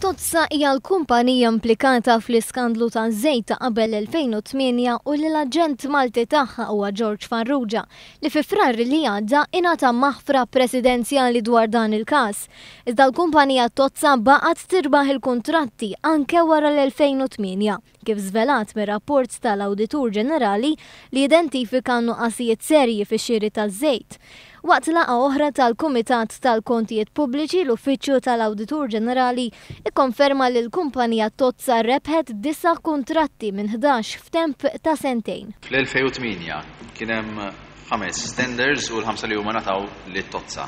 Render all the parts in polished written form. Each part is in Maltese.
Totsa hija l-kumpanija implikata fl-iskandlu taż-żejt ta' qabel 2008 u li l-aġent Malti tagħha huwa George Farrugia li fi Frar li għadda ingħata maħfra presidenzjali dwar dan il-każ. Iżda l-kumpanija Totsa baqgħet tirbaħ il-kuntratti anke wara l-2008, kif żvelat mir-rapport tal-Awditur Ġenerali li identifika nuqqasijiet serji fix-xiri taż-żejt. Waqt laqgħa oħra tal-Kumitat tal-Kontijiet Pubbliċi, l-Uffiċċju tal-Awditur Ġenerali ikkonferma li l-kumpanija Totsa rebħet disa' kuntratti minn 11 f'temp ta' sentejn. Fl-2008 kien hemm ħames tenders u l-ħamsa li huma ngħataw lit-Totsa.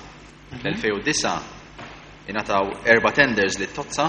Fl-2009 ingħataw erba' tenders lit-Totsa,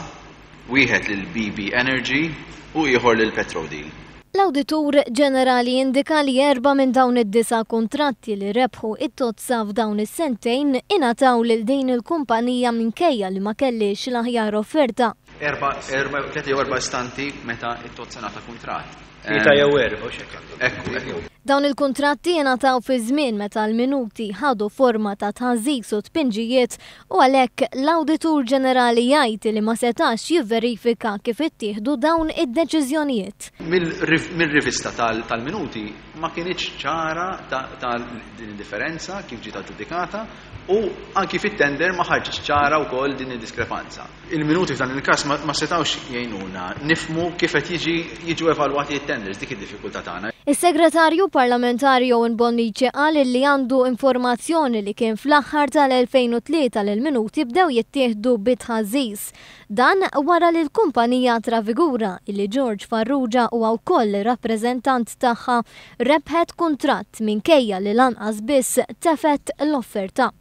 wieħed lil BB Energy u ieħor lil Petrodeal. L-Awditur Ġenerali indika li erba' minn dawn id-disa' kuntratti li rebħu it-Totsa f'dawn is-sentejn ingħataw lil din il-kumpanija minkejja li ma kellhiex l-aħjar offerta. Erba', erba', tlieta jew erba' istanti meta it-Totsa ngħata kuntratt. Tlieta jew erba' u x'hekk għandhom. Ekku, ekku. Dawn il-kuntratti ingħataw fi żmien meta l-minuti ħadu forma ta' tħażżiż u tpinġijiet u għalhekk l-Awditur Ġenerali jgħid li ma setax jivverifika kif ittieħdu dawn id-deċiżjonijiet. Mir-rivista tal-minuti ma kinitx ċara ta' din id-differenza kif ġiet aġġudikata u anki fit-tender ma ħarġitx ċara wkoll din id-diskrepanza. Il-minuti f'dan il-każ ma setgħux jgħinuna nifhmu kif qed jiġi jiġu evalwati t-tenders, dik id-diffikultà tagħna. Is-Segretarju Parlamentari Owen Bonnici qal li għandu informazzjoni li kien fl-aħħar tal-2003 li l-minuti bdew jittieħdu bi tħażżiż. Dan wara li l-kumpanija Trafigura, illi George Farrugia huwa wkoll rappreżentant tagħha, rebħet kuntratt minkejja li lanqas biss tefgħet l-offerta.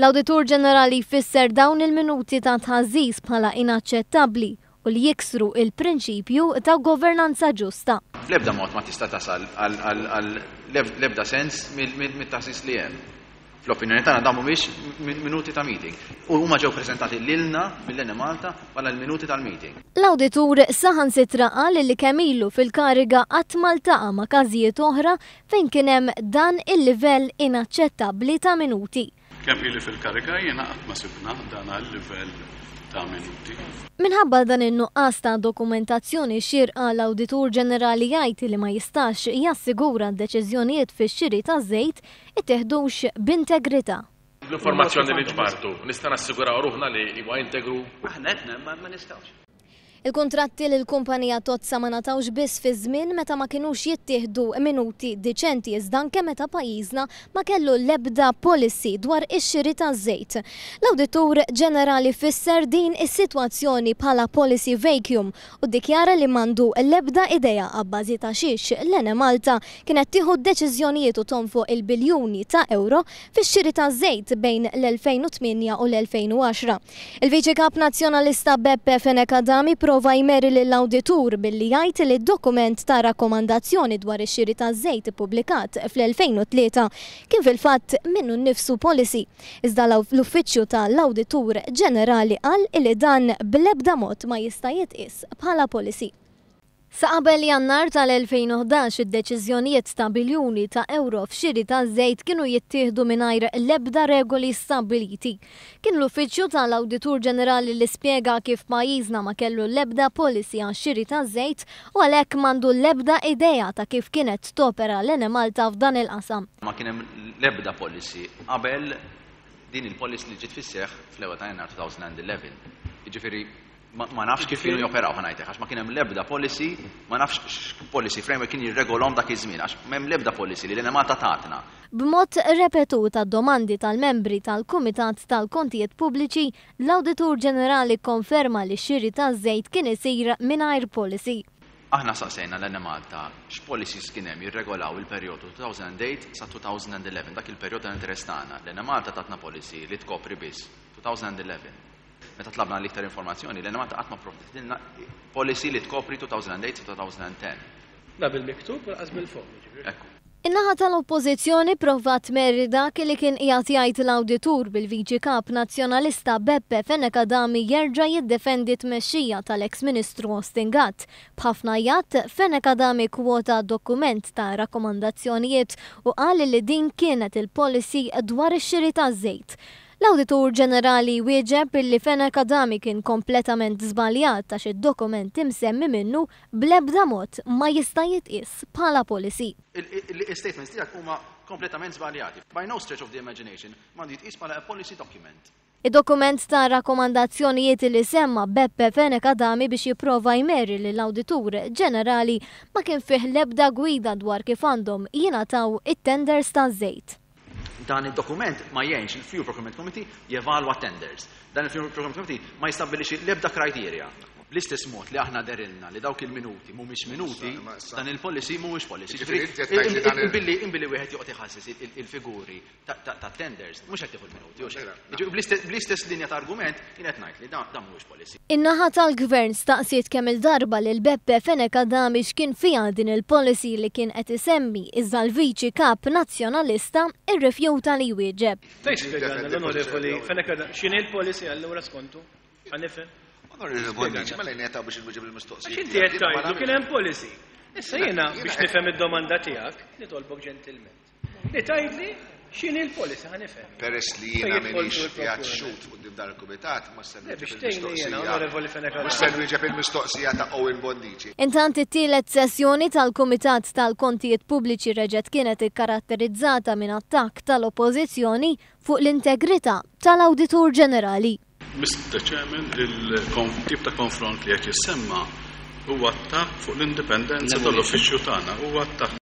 L-Awditur Ġenerali jfisser dawn il-minuti ta' tħażżiż bħala inaċċettabbli u li jiksru il-prinċipju ta' governanza ġusta. Bl-ebda mod ma tista' tasal għal l-ebda sens mit-taħsís li hemm. Fl-opinjoni tagħna dawn mhumiex minuti ta' meeting. U huma ġew preżentati lilna mill-Enemalta bħala l-minuti tal-meeting. L-awditur saħansitra qal li kemm ilu fil-kariga qatt ma ltaqa' ma' każijiet oħra fejn kien hemm dan il-livell inaċċettabbli ta' minuti. Kemm ili fil-kariga jiena qatt ma sibna dan għal-livell ta' minuti. Minħabba dan in-nuqqas ta' dokumentazzjoni xierqa, l-Awditur Ġenerali jgħid li ma jistax jassigura d-deċiżjonijiet fix-xiri taż-żejt ittieħdux b'integrità. L-informazzjoni li ġbartu, nista' nassiguraw ruħna li huwa integru? Aħna qed ma nistgħux. Il-kuntratti li l-kumpanija Totsa ma ngħatawx biss fi żmien meta ma kinux jittieħdu minuti diċenti, iżda anke meta pajjiżna ma kellu l-ebda policy dwar ix-xiri taż-żejt. L-Awditur Ġenerali fisser din is-sitwazzjoni bħala policy vacuum u ddikjara li m'għandu l-ebda idea abbażi ta' xiex l-Enemalta kienet tieħu deċiżjonijiet u tonfoq il-biljuni ta' euro fix-xiri taż-żejt bejn l-2008 u l-2010. Il-Viċi Kap Nazzjonalista Beppe Fenech Adami prova jmeri lill-awditur billi jgħid li d-dokument ta' rakkomandazzjoni dwar ix-xiri taż-żejt ippubblikat fl-2003 kien fil-fatt minnu nnifsu policy. Iżda l-Uffiċċju tal-Awditur Ġenerali qal li dan bl-ebda mod ma jista' jitqies bħala policy. Sa qabel Jannar tal-2011 id-deċiżjonijiet ta' biljuni ta' euro f'xiri ta' żejt kienu jittieħdu mingħajr l-ebda regoli stabbiliti. Kien l-Uffiċċju tal-Awditur Ġenerali li spjega kif pajjiżna ma kellu l-ebda policy għax-xiri ta' żejt u għalhekk m'għandu l-ebda idea ta' kif kienet topera l-Enemalta f'dan il-qasam. Ma kien hemm l-ebda policy qabel din il-policy li ġiet fis-seħħ fl-ewwel ta' Jannar 2011. Jiġifieri ma nafx kif kienu joperaw, ħa ngħidlek, għax ma kien hemm l-ebda policy, ma nafx x'policy framework kien jirregolhom dak iż-żmien, għax m'hemm l-ebda policy li l-Enemalta tatna. B'mod repetut għad-domandi tal-membri tal-Kumitat tal-Kontijiet Pubbliċi, l-Awditur Ġenerali konferma li x-xiri taż-żejt kien isir mingħajr policy. Aħna saqsejna l-Enemalta x'policies kien hemm jirregolaw il-perjodu 2008 sa 2011, dak il-perjodu ta' interess tagħna. L-Enemalta tatna policy li tkopri biss 2011. Meta tlabna l-iktar informazzjoni, l-Enemalta qatt ma pprovditilna policy li tkopri 2008 sa 2010. La bil-miktub u lanqas bil-fomm, jiġifieri. Ekku. In-naħa tal-Oppożizzjoni provat tmerri dak li kien qiegħed jgħid l-awditur, bil-Viċi Kap Nazzjonalista Beppe Fenech Adami jerġa' jiddefendi t-tmexxija tal-eks Ministru Austin Gatt. B'ħafna għajat, Fenech Adami kwota dokument ta' rakkomandazzjonijiet u qal li din kienet il-policy dwar ix-xiri taż-żejt. L-Awditur Ġenerali wieġeb illi Fenech Adami kien kompletament żbaljat għax id-dokument imsemmi minnu bl-ebda mod ma jista' jitqies bħala policy. Il-statements tiegħek huma kompletament żbaljati. By no stretch of the imagination m'għandu jitqies bħala a policy document. Id-dokument ta' rakkomandazzjonijiet li semma Beppe Fenech Adami biex jipprova jmerri lill-Awditur Ġenerali ma kien fih l-ebda gwida dwar kif għandhom jingħataw it-tenders taż-żejt. Dan id-dokument ma jgħinx il-Fuel Procurement Committee jevalwa tenders. Dan il-Fuel Procurement Committee ma jistabbilixxi l-ebda criteria. Bl-istess mod li aħna derilna li dawk il-minuti mhumiex minuti, dan il-policy mhuwiex policy. Imbilli wieħed joqgħod iħassis il-figuri ta' tenders, mhux qed tieħu l-minuti, bl-istess linja ta' argument jien qed ngħid li dan mhuwiex policy. In-naħa tal-Gvern staqsiet kemm il-darba lil Beppe Fenech Adami x'kien fiha din il-policy li kien qed isemmi, iżda l-Viċi Kap Nazzjonalista irrifjuta li jwieġeb. Tgħid spjegalna l-Onorevoli Fenech Adami x'inhi l-policy allura skontu? Ħa nifhem. Onorevoli Bonnici, mela jien biex inwieġeb il-mistoqsijiet. Għax inti qed tgħidu kien hemm policy. Issa jiena biex nifhem id-domanda tiegħek, nitolbok ġentilment. Li tgħidli x'inhi l-policy ħa nifhem. Peress li jiena m'iniex qiegħed xhud quddiem dan il-kumitat, ma se nwieġeb il-mistoqsija. Onorevoli Fenech Mhux se nwieġeb il-mistoqsija ta' Owen Bonnici. Intant it-tielet sessjoni tal-Kumitat tal-Kontijiet Pubbliċi reġgħet kienet ikkaratterizzata minn attakk tal-Oppożizzjoni fuq l-integrità tal-Awditur Ġenerali. Mr. Chairman, il-tip ta' konfront li qed jissemma huwa attakk fuq l-indipendenza tal-uffiċċju tagħna, huwa attakk.